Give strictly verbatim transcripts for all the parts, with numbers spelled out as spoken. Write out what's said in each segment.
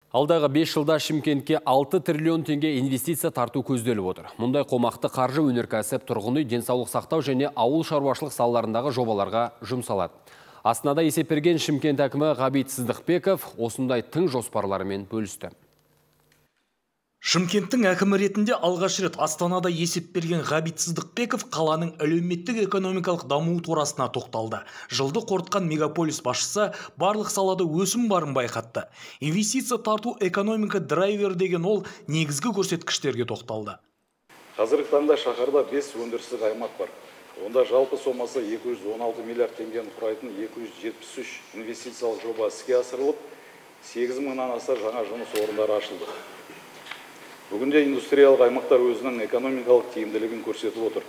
Алдағы бес жылда Шымкентке алты триллион теңге инвестиция тарту көзделіп отыр. Мұндай қомақты қаржы өнеркәсіп, тұрғын үй, денсаулық сақтау және ауыл шаруашылық салаларындағы жобаларға жұмсалады. Астанада есеп берген Шымкент әкімі Ғабит Сыздықбеков осындай тың жоспарларымен бөлісті. Шымкенттің әкімі ретінде алғаш рет Астанада есеп берген Ғабит Сыздықбеков қаланың әлеуметтік экономикалық дамуы турасына тоқталды. Жылды қорытқан мегаполис басшысы барлық салада өсім барын байқатты. Инвестиция тарту экономика драйвер деген ол негізгі көрсеткіштерге тоқталды. Қазіргі таңда шаһарда бес өндірістік аймақ бар. Онда жалпы сомасы екі жүз он алты миллиард теңгені құрайтын екі жүз жетпіс үш инвестициялық жоба іске асырылып, сегіз мыңнан аса жаңа жұмыс орындары ашылды. Бүгінде индустриялық аймақтар өзінің экономикалық тиімділігін көрсетіп отыр.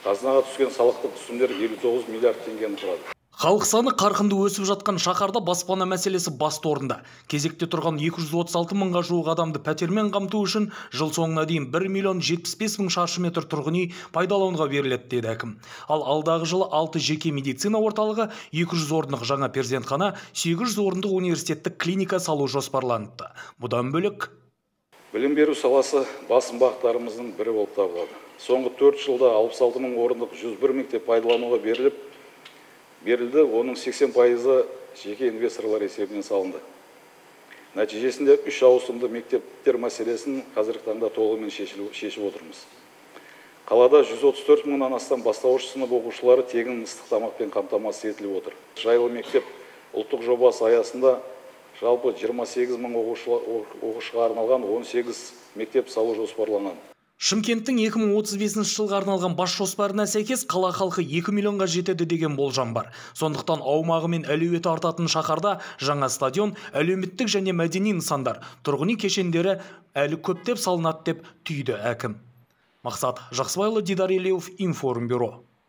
Қазынаға түскен салықтық түсімдер елу тоғыз миллиард теңгені құрады. Халық саны қарқынды өсіп жатқан шаһарда баспана мәселесі басты орында. Кезекте тұрған екі жүз отыз алты мыңға жуық адамды пәтермен қамту үшін жыл соңына дейін бір миллион жетпіс бес мың шаршы метр тұрғын үй пайдалануға беріледі деді әкім. Ал алдағы жылы алты жеке медицина орталығы, екі жүз орындық жаңа перзентхана, сегіз жүз орындық университеттік клиника салу жоспарланыпты. Бұдан бөлек Білім беру саласы басым бағыттарымыздың бірі болып табылады. Соңғы төрт жылда алпыс алты мың орындық жүз бір мектеп пайдалануға беріліп, берілді, оның сексен пайызы жеке инвесторлар есебінен салынды. Нәтижесінде үш ауысымды мектептер мәселесін қазіргі таңда толығымен шешіп отырмыз. Қалада жүз отыз төрт мыңнан астам бастауыш сынып оқушылары тегін ыстық тамақпен қамтамасыз етіліп отыр. Жайлы мектеп ұлттық жобасы аясында жалпы жиырма сегіз мың оқушыға арналған он сегіз мектеп салу жоспарланған. Шымкенттің екі мың отыз бесінші жылға арналған бас жоспарына сәйкес қала халқы екі миллионға жетеді деген болжам бар. Сондықтан аумағы мен әлеуеті артатын шаһарда жаңа стадион, әлеуметтік және мәдени нысандар, тұрғын үй кешендері әлі көптеп салынады деп түйді әкім. Мақсат Жақсыбайұлы, Дидар Елеуов, Информбюро.